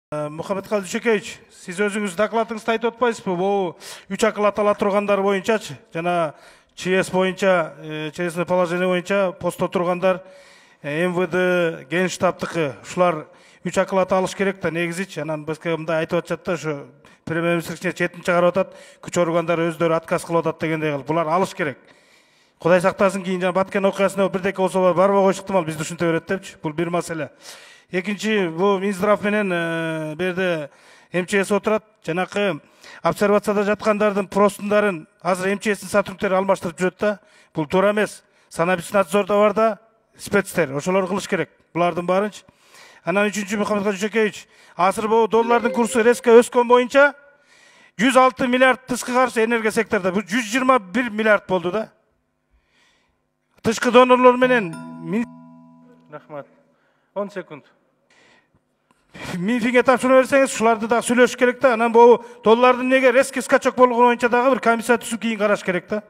Мухаммедкалый Дүйшөкеевич, сиз өзүңүз докладыңызда айтып атпайсызбы? Бул 3 акыл атала тургандар боюнчачы, жана ЧС боюнча, честное положение боюнча постто тургандар, МВД, Генштабтыкы, ушулар 3 акыл ата алыш керек да, негизичи. Анан башка мындай айтып атышат да, ошо премьер-министр четин чыгарып атат, күч органдары өздөрү отказ кылып атат дегендей кылып. Булар алыш керек. Кудай сактасын, кийин жана Баткен окуясына бирдеке болсо барбай коюш ыктымал, бизди ушинте берет депчи. Бул бир маселе. Экинчи, бул Минздрав менен берде МЧС отурат. Жанакы обсервацияда жаткандардын простундарын азыр МЧСтин сотрудниктери алмаштырып жүрөт да. Бул туура эмес. Санэпидснадзордо бар да, спецтер, ошолор кылыш керек. Булардын баарынчы. Анан үчүнчү, Мухаммедкалый Дүйшөкеевич, азыр бул доллардын курсу резко өскөн боюнча 106 миллиард тышкы каршы энергия секторунда, бул 121 миллиард болду да. Тышкы донорлор менен рахмат. 10 секунд. Минфинге тапшырма берсеңиз, ушуларды дагы сүйлөшүш керек да. Анан бул доллардын неге резкий скачок болгону боюнча дагы бир комиссия түзүп кийин караш керек да.